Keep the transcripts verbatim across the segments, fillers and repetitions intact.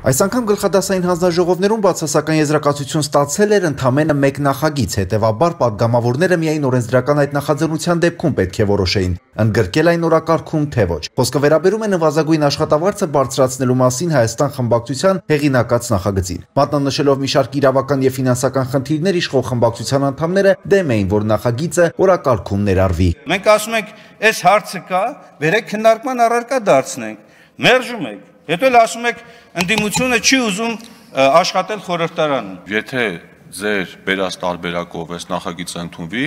Այս անգամ գլխադասային հանձնաժողովներում բացասական եզրակացություն ստացել էր ընդամենը մեկ նախագիծ, հետևաբար պատգամավորները միայն օրենսդրական այդ նախաձեռնության դեպքում պետք է որոշեին, ընդգրկել այն օրակարգում, թե ոչ։ Խոսքը վերաբերում է նվազագույն աշխատավարձը բարձրացնելու մասին Հայաստան խմբակցության հեղինակած նախագծին։ Մատնանշելով մի շարք իրավական եւ ֆինանսական խնդիրներ, իշխող խմբակցության անդամները դեմ էին, որ նախագիծը օրակարգում ներառվի։ Մենք ասում ենք, այս հարցը կա, վերեք քննարկման առարկա դարձնենք, մերժում եք։ Հետո էլ ասում եք, ընդդիմությունը չի ուզում աշխատել խորհրդարանում։ Եթե ձեր բերած տարբերակով այս նախագիծը ընդունվի,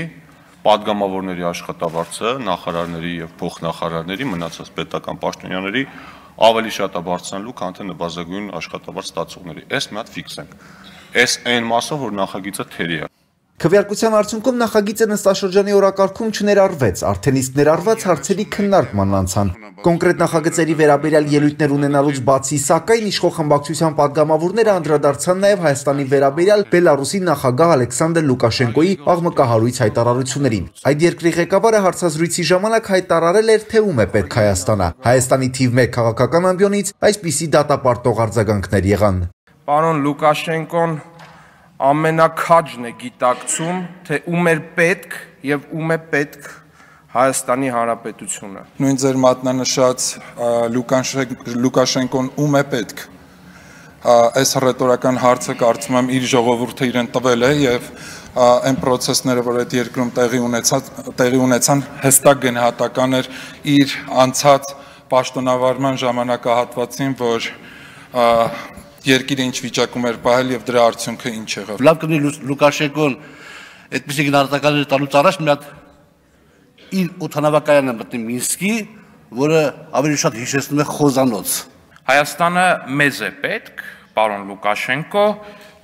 պատգամավորների աշխատավարձը նախարարների եւ փոխնախարարների մնացած պետական պաշտոնյաների ավելի շատ է բարձրանալու, քան թե նվազագույն աշխատավարձ ստացողների։ Այս մի հատ ֆիքսենք։ Այս այն մասը, որ նախագիծը թերի է։ Քվեարկության արդյունքում նախագիծը նստաշրջանի օրակարգում չներառվեց, արդեն իսկ ներառված հարցերի քննարկման անցան։ Կոնկրետ նախագծերի վերաբերյալ ելույթներ ունենալուց բացի, սակայն իշխող խմբակցության պատգամավորները անդրադարձան նաև Հայաստանի վերաբերյալ Բելարուսի նախագահ Ալեքսանդր Լուկաշենկոյի աղմկահարույց հայտարարություններին։ Այդ երկրի ղեկավարը հարցազրույցի ժամանակ հայտարարել էր, թե ում է պետք Հայաստանը։ Հայաստանի թիվ մեկ քաղաքական ամբիոնից այսպիսի դատապարտող արձագանքներ եղան։ Պարոն Լուկաշենկոն ամենաքաջն է գիտակցում, թե ում էր պետք եւ ում է պետք Հայաստանի Հանրապետությունը։ Նույն ձեր մատնանշած Լուկաշենկոն ում է պետք։ Այս ռետորական հարցը կարծում եմ իր ժողովուրդը իրեն տվել է եւ այն process-ները, որ այդ երկրում տեղի ունեցած տեղի ունեցան, հստակ գնահատական էր իր անցած պաշտոնավարման ժամանակահատվածին, որ երկիրը ինչ վիճակում էր պահել եւ դրա արդյունքը ինչ եղավ։ Լավ կնի Լուկաշենկոն այդպիսի գնահատականներ տալուց առաջ մի հատ իր օդանավակայանը մտնի Մինսկի, որը ավելի շատ հիշեցնում է խոզանոց։ Հայաստանը մեզ է պետք, պարոն Լուկաշենկո,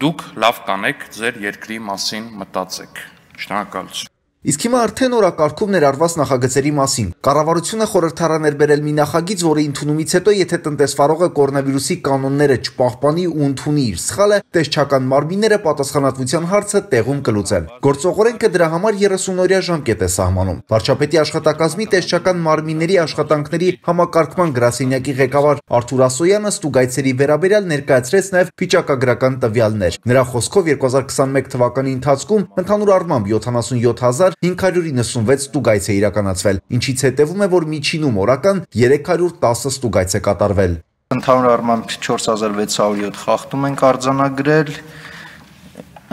դուք լավ կանեք ձեր երկրի մասին մտածեք։ Շնորհակալություն։ Իսկ հիմա արդեն օրակարգում ներառված նախագծերի մասին։ Կառավարությունը խորհրդարան էր բերել մի նախագիծ, որի ընդունումից հետո, եթե տնտեսվարողը կորոնավիրուսի կանոնները չպահպանի ու ընդունի իր սխալը, տեսչական մարմինները պատասխանատվության հարցը տեղում կլուծեն։ Գործողորենքը դրա համար երեսունօրյա ժամկետ է սահմանում։ Վարչապետի աշխատակազմի տեսչական մարմինների աշխատանքների համակարգման գրասենյակի ղեկավար Արթուր Ասոյանը ստուգայցերի վերաբերյալ ներկայացրեց նաև վիճակագրական տվյալներ։ Նրա խոսքով երկու հազար քսանմեկ թվականի ընթացքում ընդհանուր առմամբ յոթանասունյոթ հազար հինգ հարյուր իննսունվեց ստուգայց է իրականացվել, ինչից հետևում է, որ միջինում օրական երեք հարյուր տասը ստուգայց է կատարվել։ Ընդհանուր առմամբ չորս հազար վեց հարյուր յոթ խախտում ենք արձանագրել,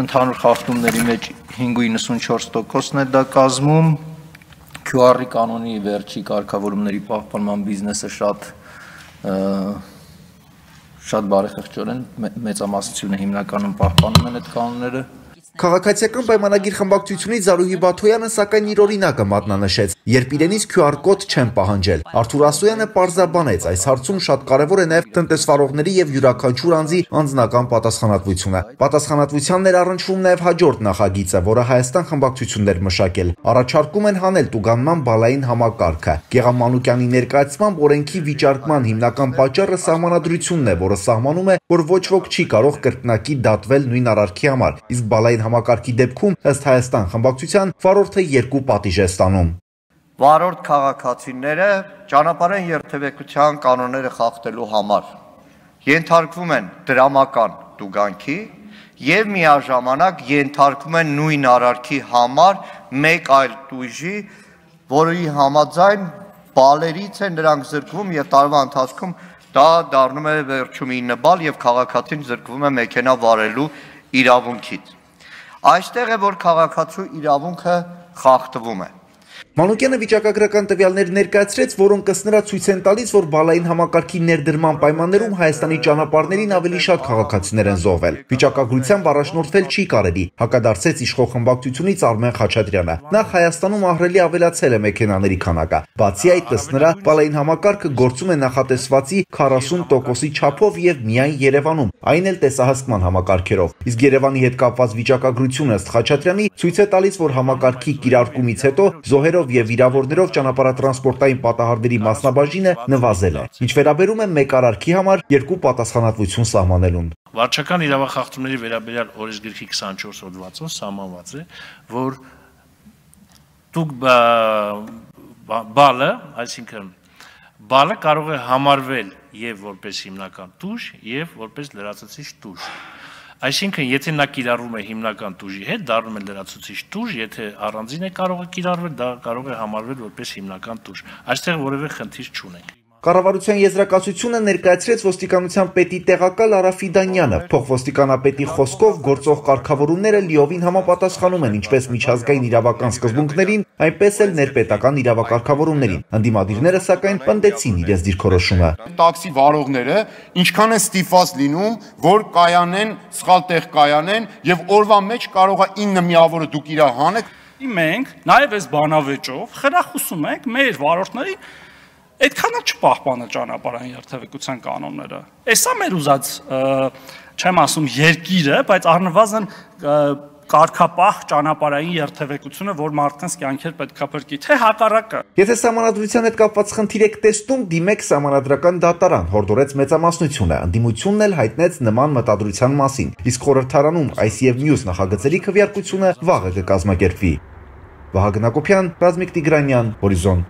ընդհանուր խախտումների մեջ հինգ հարյուր իննսունչորս տոկոսն է դա կազմում, Q R-ի կանոնի վերջի կարգավորումների պահպանման բիզնեսը շատ շատ բարեխղճորեն մեծամասնությունը հիմնականում պահպանում են այդ կանոնները։ Քաղաքացիական պայմանագիր խմբակցությունից Զարուհի Բաթոյանը սակայն իր օրինակը մատնանշեց, երբ իրենից Q R կոդ չեն պահանջել։ Արթուր Ասոյանը պարզաբանեց, այս հարցում շատ կարևոր է նաև տնտեսվարողների եւ յուրաքանչյուր անձի անձնական պատասխանատվությունը։ Պատասխանատվությանն էր առնչվում նաև հաջորդ նախագիծը, որը Հայաստան խմբակցությունն էր մշակել։ Առաջարկում են հանել տուգանման բալային համակարգը։ Գեգամ Մանուկյանի ներկայացմամբ օրենքի վիճարկման հիմնական պատճառը սահմանադրությունն է, որը սահմանում է, որ ոչ ոք չի կարող կրկնակի դատվել նույն արարքի համար, իսկ բալային համակարգի դեպքում ըստ Հայաստան խմբակցության վարորդը երկու պատիժ է ստանում։ Վարորդ քաղաքացիները ճանապարհային երթևեկության կանոնները խախտելու համար ենթարկվում են դրամական տուգանքի եւ միաժամանակ ենթարկվում են նույն արարքի համար մեկ այլ տույժի, որի համաձայն բալերից են նրանք զրկվում եւ տարվա ընթացքում դա դառնում է վերջում ինը բալ եւ քաղաքացին զրկվում է մեքենա վարելու իրավունքից։ Այստեղ է, որ քաղաքացու իրավունքը խախտվում է։ Մանուկյանը վիճակագրական տվյալներ ներկայացրեց, որոնք ըստ նրա ցույց են տալիս, որ բալային համակարգի ներդրման պայմաններում Հայաստանի ճանապարհներին ավելի շատ քաղաքացիներ են զոհվել։ Վիճակագրությամբ առաջնորդվել չի կարելի, հակադարձեց իշխող խմբակցությունից Արմեն Խաչատրյանը։ Նախ Հայաստանում ահռելի ավելացել է մեքենաների քանակը։ Բացի այդ, ըստ նրա, բալային համակարգը գործում է նախատեսվածի քառասուն տոկոսի չափով եւ միայն Երևանում, այն էլ տեսահսկման համակարգերով։ Իսկ Երևանի հետ կապված վիճակագրությունը ըստ Խաչատրյանի ցույց է տալիս, որ համակարգի կիրարկումից հետո զոհերով եւ վիրավորներով ճանապարհատրանսպորտային պատահարների մասնաբաժինը նվազել է։ Ինչ վերաբերում է մեկ արարքի համար երկու պատասխանատվություն սահմանելուն։ Վարչական իրավախախտումների վերաբերյալ օրենսգրքի քսանչորս հոդվածով սահմանված է, որ դուք բալը, այսինքն բալը կարող է համարվել եւ որպես հիմնական տուժ եւ որպես լրացուցիչ տուժ։ Այսինքն, եթե նա կիրառվում է հիմնական տուժի հետ, դառնում է լրացուցիչ տուժ, եթե առանձին է կարող է կիրառվել, դա կարող է համարվել որպես հիմնական տուժ։ Այստեղ որևէ խնդիր չունենք։ Կառավարության եզրակացությունը ներկայացրեց ոստիկանության պետի տեղակալ Արա Ֆիդանյանը։ Փոխոստիկանապետի խոսքով գործող կարգավորումները լիովին համապատասխանում են ինչպես միջազգային իրավական սկզբունքներին, այնպես էլ ներպետական իրավակարգավորումներին։ Ընդդիմադիրները սակայն պնդեցին իրենց դիրքորոշումը։ Տաքսի վարողները ինչքան են ստիպված լինում, որ կայանեն, սխալ տեղ կայանեն եւ օրվա մեջ կարող է ինը միավորը դուք իրար հանեք։ Մենք նաեւ այս բանավեճով խրախուսում ենք մեր վարորդներին այդքան էլ չպահպանել ճանապարհային երթևեկության կանոնները։ Էսա մեր ուզած, չեմ ասում երկիրը, բայց առնվազն կարգապահ ճանապարհային երթևեկությունը, որ մարդկանց կյանքեր պետք է փրկի, թե հակառակը։ Եթե սահմանադրության հետ կապված խնդիր եք տեսնում, դիմեք սահմանադրական դատարան, հորդորեց մեծամասնությունը։ Ընդդիմությունն էլ հայտնեց նման մտադրության մասին։ Իսկ խորհրդարանում այս եւ մյուս նախագծերի քվեարկությունը վաղը կկազմակերպվի։ Վահագն Հակոբյան, Ռազմիկ Տիգրանյան, Հորիզոն։